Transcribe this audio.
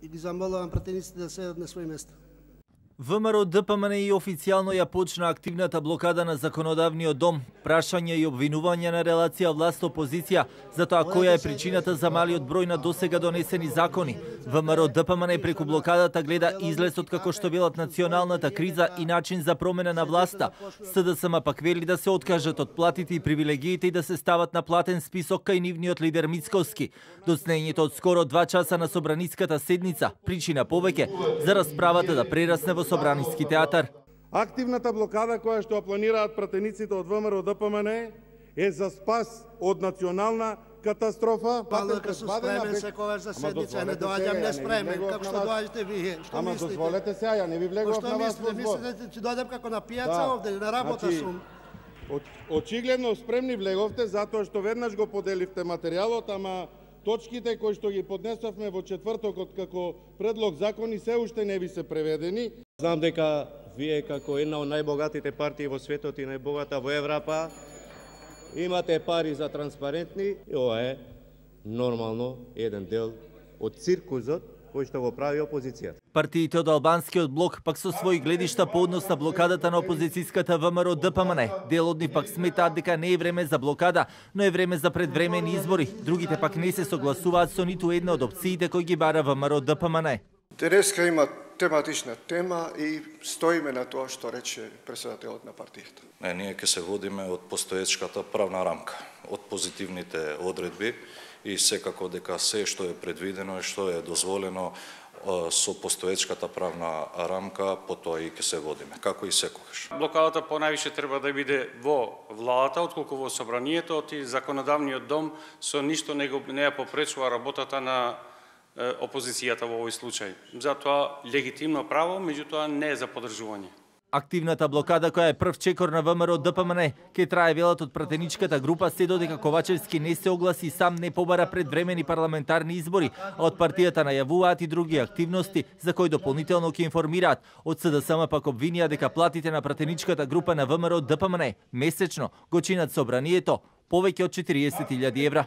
и ги замолувам пратениците да седат на своји места. ВМРО ДПМН и официјално ја почна активната блокада на законодавниот дом, прашање и обвинување на релација власт-опозиција за тоа која е причината за малиот број на досега донесени закони. ВМРО ДПМН преку блокадата гледа излез од како што велат националната криза и начин за промена на власта. СДСМ пак вели да се откажат од платите и привилегиите и да се стават на платен список кај нивниот лидер Мицковски. Доцнењето од скоро 2 часа на собраниската седница причина повеќе за расправата да прерасне во Собраниски театар. Активната блокада која што планираат пратениците од ВМРО ДПМН е за спас од национална катастрофа. Палка су спремен секогаш за седница, не доаѓам неспремен, како што доаѓате вие. Што мислите? Ама дозволете се, ја не ви влегував на вас. Што мислите, че дојдем како на пијаца овде, на работа сум? Очигледно спремни влеговте затоа што веднаш го поделивте материјалот, ама точките кои што ги поднесовме во четвртокот како предлог закони се уште не ви се преведени. Знам дека вие како една од најбогатите партии во светот и најбогата во Европа имате пари за транспарентни и ова е нормално еден дел од циркузот кој што го прави опозицијата. Партиите од албанскиот блок пак со своји гледишта по однос на блокадата на опозицијската ВМРО ДПМН. Дел од нив пак сметаат дека не е време за блокада, но е време за предвремени избори. Другите пак не се согласуваат со ниту една од опциите кои ги бара ВМРО ДПМН. Денеска има тематична тема и стоиме на тоа што рече претседателот на партијата. Ние ќе се водиме од постоечката правна рамка, од позитивните одредби и секако дека се што е предвидено и што е дозволено со постоечката правна рамка, по тоа и ќе се водиме, како и секогаш. Блокадата понајвише треба да биде во владата, отколку во собранието, и законодавниот дом со ништо не ја попречува работата на опозицијата во овој случај. Затоа легитимно право, меѓутоа не е за поддржување. Активната блокада која е прв чекор на ВМРО ДПМН ќе трае велат од пратеничката група се додека Ковачевски не се огласи и сам не побара предвремени парламентарни избори, а од партијата најавуваат и други активности за кои дополнително ќе информираат. Од СДСМ пак обвинија дека платите на пратеничката група на ВМРО ДПМН месечно го чинат собранието повеќе од 40.000 евра.